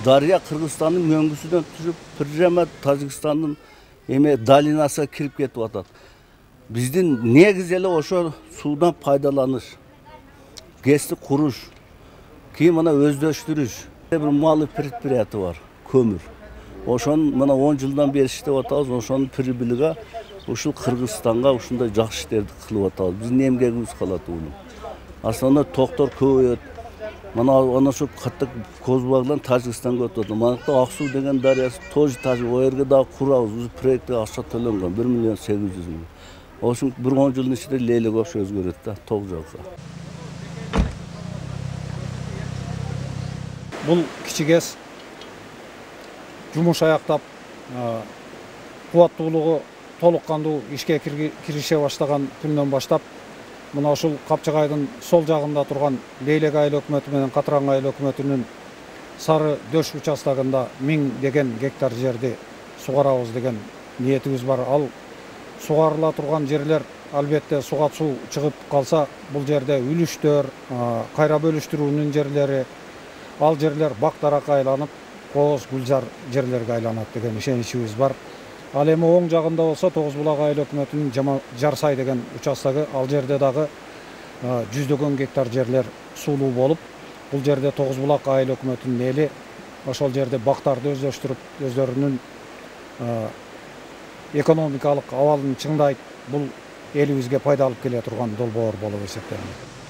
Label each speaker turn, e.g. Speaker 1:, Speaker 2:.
Speaker 1: Дарья Кыргызстандын мөңгүсүнөн түшүп, прямо Тажикстандын долинасына кирип кетип атат. Биздин негизи эле ошо суудан пайдаланыш, ГЭСти куруш, кийин мына өздөштүрүш. Бир малый предприятие бар, көмүр. Ошонун мына 10 жылдан бери иштеп атабыз, ошонун прибылига ушул Кыргызстанга ушундай жакшы иштерди кылып атабыз. Биздин эмгегибиз калат уну. Основной токтор көбөйөт. Мына ошо катык Козбагдан Тажикстанга өтүп атат. Мына Аксуу деген дарыясы тоже Тажик, о жерге дагы курабыз. Биз проектке акча төлөнгөн 1 миллион 800 миң. Ошо бир 10 жылдын ичинде лейлек болуп өзгөрөт да, ток жакка.
Speaker 2: Бул кичи ГЭС жумуш аяктап, кубаттуулугу толук кандуу ишке кирише баштаган күндөн баштап мына ушул Капчыгайдын сол жагында турган Лейлек айыл өкмөтү менен Катыран айыл өкмөтүнүн Сары Дөш участогунда 1000 деген гектар жерди сугарабыз деген ниетибиз бар. Ал сугарыла турган жерлер албетте суга суу чыгып калса, бул жерде үлүштөр, кайра бөлүштүрүүнүн жерлери, ал жерлер бак-даракка айланып, кооз гүлзар жерлерге айланат деген ишеничибиз бар. Ал эми оң жагында болсо Тогуз Булак айыл өкмөтүнүн Жарсай деген участогу, ал жерде дагы жүздөгөн гектар жерлер суулуу болуп, бул жерде Тогуз Булак айыл өкмөтүнүн эли ошол жерде бактарды өздөштүрүп, өздөрүнүн экономикалык абалын чыңдайт. Бул элибизге пайда алып келе турган долбоор болуп эсептелет.